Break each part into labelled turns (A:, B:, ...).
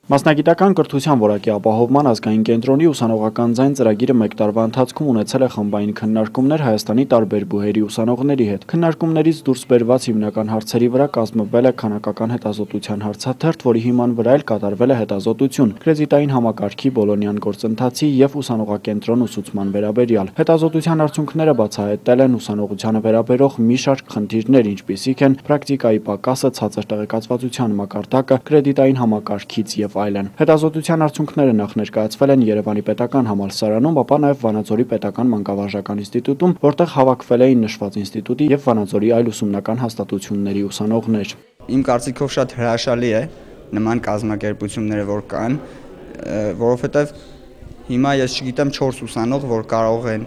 A: Մասնագիտական կրթության որակի ապահովման ազգային կենտրոնի ուսանողական ձայն ծրագիրը մեկ տարվա ընթացքում ունեցել է խմբային քննարկումներ Հայաստանի տարբեր բուհերի ուսանողների հետ։ Քննարկումներից դուրս բերված հիմնական հարցերի վրա կազմվել է քանակական հետազոտության հարցաթերթ, որի հիման վրա էլ կատարվել է հետազոտություն կրեդիտային համակարգի բոլոնյան գործընթացի եւ ուսանողակենտրոն ուսուցման վերաբերյալ։ Հետազոտության արդյունքները բացահայտել են ուսանողությանը վերաբերող մի շարք խնդիրներ, ինչպիսիք են պրակտիկայի պակասը, ցածր տեղեկացվածության մակարդակը, կրեդիտային համակարգից եւ այլն։ Հետազոտության արդյունքները նախ ներկայացվել են Երևանի պետական համալսարանում, ապա նաև Վանաձորի պետական մանկավարժական ինստիտուտում, որտեղ հավաքվել էին նշված ինստիտուտի եւ Վանաձորի այլ ուսումնական հաստատությունների ուսանողներ։
B: Իմ կարծիքով շատ հրաշալի է նման կազմակերպությունները, որ կան, որովհետեւ հիմա ես չգիտեմ 4 ուսանող, որ կարող են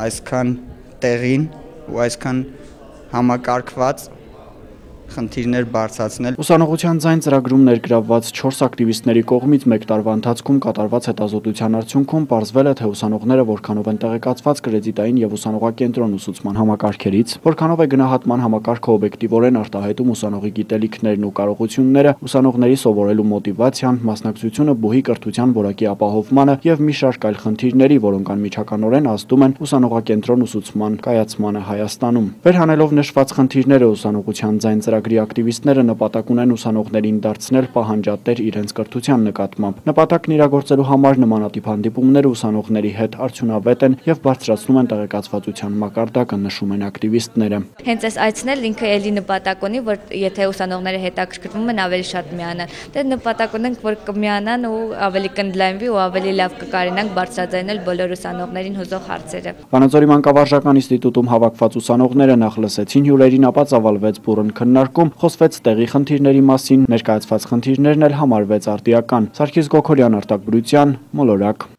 B: այսքան տեղին ու այսքան համակարգված խնդիրներ բարձրացնել։
A: Ուսանողության ձայն ծրագրում ներգրավված 4 ակտիվիստների կողմից մեկ տարվա ընթացքում կատարված հետազոտության արդյունքում պարզվել է, թե ուսանողները որքանով են տեղեկացված կրեդիտային եւ ուսանողակենտրոն ուսուցման համակարգերից, որքանով է գնահատման համակարգը օբյեկտիվորեն արտահայտում ուսանողի գիտելիքներն ու կարողությունները, ուսանողների սովորելու մոտիվացիան, մասնակցությունը բուհի կրթության որակի ապահովմանը եւ մի շարք այլ խնդիրների, որոնք անմիջականորեն ազդում են ուսանողակենտրոն ուսուցման կայացմանը Հայաստանում։ Վերհանելով նշված խնդիրները ուսանողության ձայն ծրագրի ակտիվիստները նպատակ ունեն ուսանողներին դարձնել պահանջատեր իրենց կրթության նկատմամբ։ Նպատակն իրագործելու համար նմանատիպ հանդիպումները ուսանողների հետ արդյունավետ են եւ բարձրացնում են տեղեկացվածության մակարդակը, նշում են ակտիվիստները։
C: Հենց այս այցնել ինքը էլի նպատակ ունի, որ եթե ուսանողները հետաքրքրվում են, ավելի շատ միանան։ Դե նպատակ ունենք, որ կմիանան ու ավելի կընդլայնվի ու ավելի լավ կկարենանք բարձրաձայնել բոլոր ուսանողներին հուզող հարցերը։
A: Վանաձորի մանկավարժական ինստիտուտում հավաքված ուսանողները նախ լսեցին հյուրերին, ապա ծավալվեց բուռն քննարկում, խոսվեց տեղի խնդիրների մասին, ներկայացված խնդիրներն էլ համարվեց արդիական։ Սարգիս Գոքորյան, Արտակ Բրուցյան, Մոլորակ։